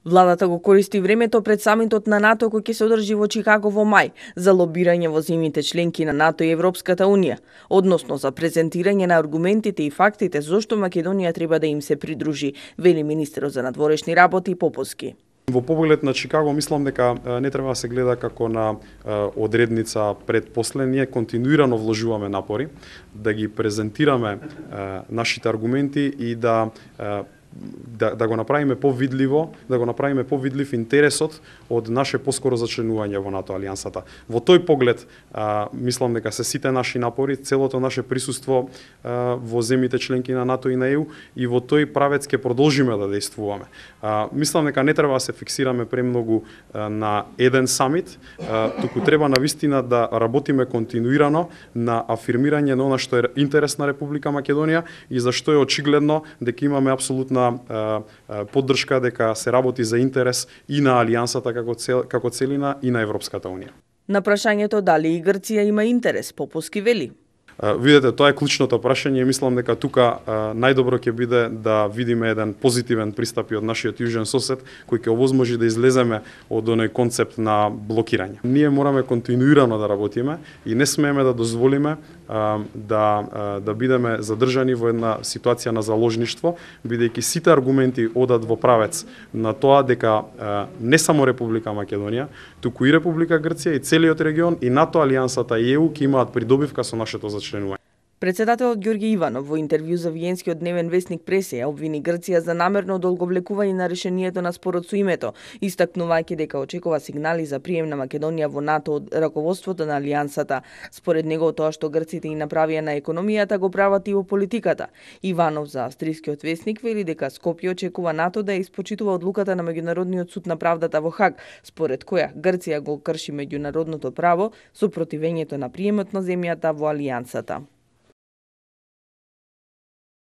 Владата го користи времето пред самитот на НАТО кој ќе се одржи во Чикаго во мај за лобирање во земјите членки на НАТО и Европската Унија, односно за презентирање на аргументите и фактите зошто Македонија треба да им се придружи, вели министерот за надворешни работи Поповски. Во поглед на Чикаго мислам дека не треба да се гледа како на одредница пред после. Ние континуирано вложуваме напори да ги презентираме нашите аргументи и да го направиме повидливо, да го направиме повидлив интересот од наше поскоро зачленување во НАТО алијансата. Во тој поглед мислам дека се сите наши напори, целото наше присуство во земјите членки на НАТО и на ЕУ и во тој правец ќе продолжиме да действуваме. Мислам дека не треба да се фиксираме премногу на еден самит, туку треба навистина да работиме континуирано на афирмирање на она што е интерес на Република Македонија и зашто е очигледно дека имаме апсолутна поддршка дека се работи за интерес и на алијансата како целина и на Европската Унија. На прашањето дали и Грција има интерес, Поповски вели: Видете, тоа е клучното прашање и мислам дека тука најдобро ќе биде да видиме еден позитивен пристап и од нашиот южен сосед кој ќе овозможи да излеземе од оној концепт на блокирање. Ние мораме континуирано да работиме и не смееме да дозволиме да бидеме задржани во една ситуација на заложништво, бидејќи сите аргументи одат во правец на тоа дека не само Република Македонија, туку и Република Грција и целиот регион и НАТО алијансата и ЕУ ќе имаат придобивка со нашето зачленување. Председателот Ѓорѓе Иванов во интервју за виенскиот дневен весник Пресе обвини Грција за намерно одолговлекување на решението на спорот со името, истакнувајќи дека очекува сигнали за прием на Македонија во НАТО од раководството на алијансата. Според него тоа што грците и направија на економијата го прават и во политиката. Иванов за австрискиот весник вели дека Скопје очекува НАТО да испочитува одлуката на Меѓународниот суд на правдата во Хаг, според која Грција го крши меѓународното право со противењето на приемот на земјата во алијансата.